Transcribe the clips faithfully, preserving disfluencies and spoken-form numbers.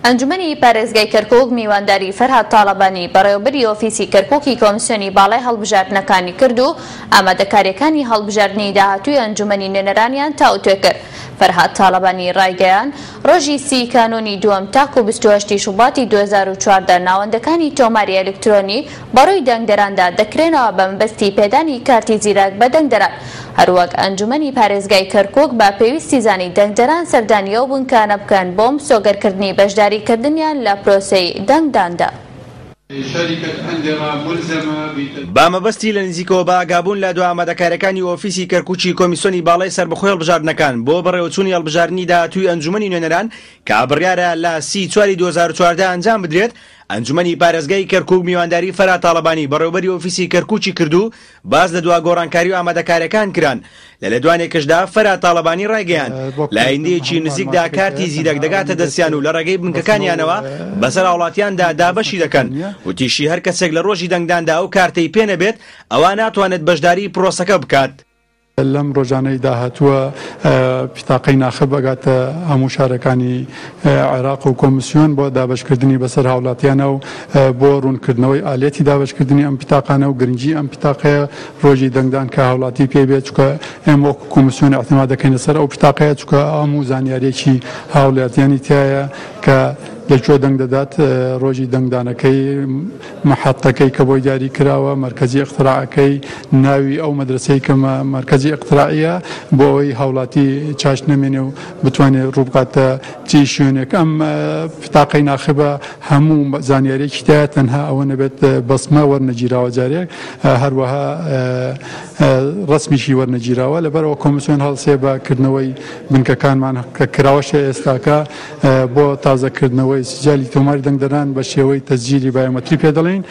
ئەنجومەنی پارێزگای کەرکوک میوانداری فەرهاد تاڵەبانی بەڕێوەبەری ئۆفیسی کەرکوکی کۆمسیۆنی باڵای هەڵبژاردنەکانی کرد و ئامادەکاریەکانی هەڵبژاردنی داهاتووی ئەنجومەنی نوێنەرانیان تاوتوێ کرد. فەرهاد تاڵەبانی ڕایگەیاند ڕۆژی سی کانوونی دووەم تاکو بیست و هەشت شوباتی دوو هەزار و چواردە ناوەندەکانی تۆماری ئەلکترۆنی بەڕووی دەنگدەراندا دەکرێنەوە بە مەبەستی پێدانی کارتی زیرەک بە دەنگدەران. هەروەک ئەنجومەنی پارێزگای کەرکوک بە پێویستی زانی دەنگدەران سەردانی ئەو بنکانە بکەن بۆ مسۆگەرکردنی بەشداریکردنیان لە پرۆسەی دەنگداندا. با مەبەستی لە نزیکەوە بە ئاگابوون لە دوا ئامادەکاریەکانی ئۆفیسی کەرکوکی کۆمیسیۆنی باڵای سەربەخۆی هەڵبژاردنەکان بۆ بەڕێوەچوونی هەڵبژاردنی داهاتووی ئەنجومەنی نوێنەران کە بڕیارە لە سی چواری دوو هەزار و چواردە ئەنجام بدرێت، ئەنجومەنی پارێزگای کەرکوک میوانداری فەرهاد تاڵەبانی بەڕێوەبەری ئۆفیسی کەرکوکی کرد و باس لە دوا گۆڕانکاری و ئامادەکاریەکان کران. لە لێدوانێکشدا فەرهاد تاڵەبانی ڕایگەیاند لە ئایندەیەکی نزیکدا کارتی زیرەک دەگاتە دەستیان و لە ڕێگەی بنکەکانیانەوە بەسەر هاوڵاتیاندا دابەشی دەکەن. وتیشی هەر کەسێک لە ڕۆژی دەنگداندا ئەو کارتەی پێ نەبێت ئەوە ناتوانێت بەشداری پرۆسەکە بکات. لەم ڕۆژانەی داهاتووە پیتاقەی ناخب ئەگاتە هەموو شارەکانی عێراق و کۆمیسیۆن بۆ دابەشکردنی بەسەر هاوڵاتیانە و بۆ ڕوونکردنەوەی ئالێتی دابەشکردنی ئەم پیتاقانە و گرنگی ئەم پیتاقەیە ڕۆژی دەنگدان کە هاوڵاتی پێ بێت، چونکە ئێمە وەکو کۆمیسیۆن اعتماد دەکەینە سەر ئەو پیتاقەیە، چونکە هەموو زانیاریەکی هاوڵاتیانی تایە کە لەکوێ دەنگ دەدات، ڕۆژی دەنگدانەکەی، محەتەکەی کە بۆی دیاری کراوە، مەرکەزی ئیقتراعەکەی، ناوی ئەو مەدرسەی کە مەرکەزی ئیقتراعیە، بۆ ئەوەی هاوڵاتی چاش نەمێنێ و بتوانێت ڕووبکاتە چی شوێنێک. ئەم پتاقەی ناخبە هەموو زانیاریەکی تایە، تەنها ئەوە نەبێت بەسمە وەرنەگیراوە جارێک، هەروەها ڕسمیشی وەرنەگیراوە. لەبەرەوە کۆمیسیۆن هەڵسێ بە کردنەوەی بنکەکانمان کە کراوەشە ئێستاکە بۆ تازەکردنەوەی سجالی تۆماری دەنگدەران بە شێوەی تەسجیلی بایۆمەتری پێدەڵێین.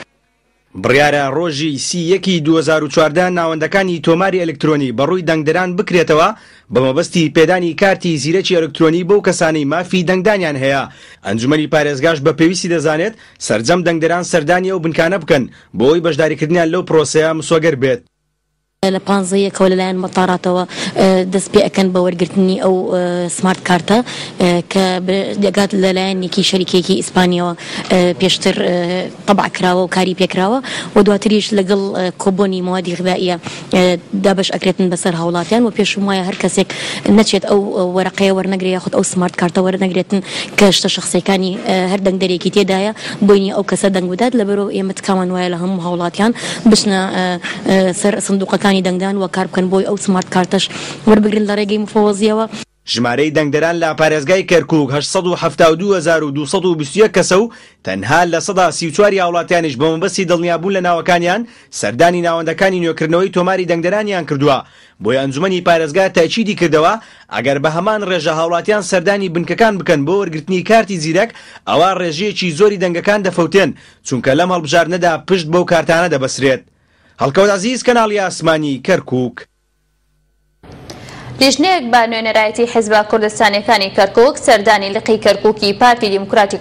بڕیارە ڕۆژی سی یەکی دوو هەزار و چواردە ناوەندەکانی تۆماری ئەلکترۆنی بەڕووی دەنگدەران بکرێتەوە بە مەبەستی پێدانی کارتی زیرەکی ئەلکترۆنی بەو کەسانەی مافی دەنگدانیان هەیە. ئەنجومەنی پارێزگاش بە پێویستی دەزانێت سەرجەم دەنگدەران سەردانی ئەو بنکانە بکەن بۆ ئەوەی بەشداریکردنیان لەو پرۆسەیە مسۆگەر بێت. لە پانزە یەکەوە لەلایەن مەتاراتەوە دەست پێ ئەکەن بە وەرگرتنی ئەو سمارت کارتە کە دەگات لەلایەن یەکی شەریکێکی ئیسپانیەوە پێشتر تەبع کراوە و کاری پێکراوە و دواتریش لەگەڵ کۆبۆنی موادی غذائیە دابەش ئەکرێتن بەسەر هاوڵاتیان و پێشم وایە هەر کەسێک نەچێت ئەو وەرەقەیە وەرنەگرێ یاخود ئەو سمارت کارتە وەرنەگرێتن کە شتە شخصیەکانی هەر دەنگدەرێکی تێدایە بۆی نییە ئەو کەسە دەنگ بدات. لەبەرەوە ئێمە تکامان وایە لە هەموو هاوڵاتیان بچنە سەر سندوقەکانی دەنگدان و کار بکەن بۆی ئەو سمارت کارتەش وەربگرن لە ڕێگەی مفەوەزیەوە. ژمارەی دەنگدەران لە پارێزگای کەرکوک هەشت سەد و حەفتا و دوو هەزار و دوو سەد و بیست و یەک کەسە و تەنها لە سەدا سی و چواری هاوڵاتیانیش بە مەبەستی دڵنیابوون لە ناوەکانیان سەردانی ناوەندەکانی نوێکردنەوەی تۆماری دەنگدەرانیان کردووە. بۆیە ئەنجومەنی پارێزگا تاکیدی کردەوە ئەگەر بە هەمان ڕێژە هاوڵاتیان سەردانی بنکەکان بکەن بۆ وەرگرتنی کارتی زیرەک ئەوە ڕێژەیەکی زۆری دەنگەکان دەفەوتێن، چونکە لەم هەڵبژاردنەدا پشت بەو کارتانە دەبەسرێت. هەڵکەوت عەزیز، کەناڵی ئاسمانی کەرکوک. لیژنەیەک بە نوێنەرایەتی حیزبە کوردستانیەکانی کەرکوک سەردانی لقی کەرکوکی پارتی دیموکراتی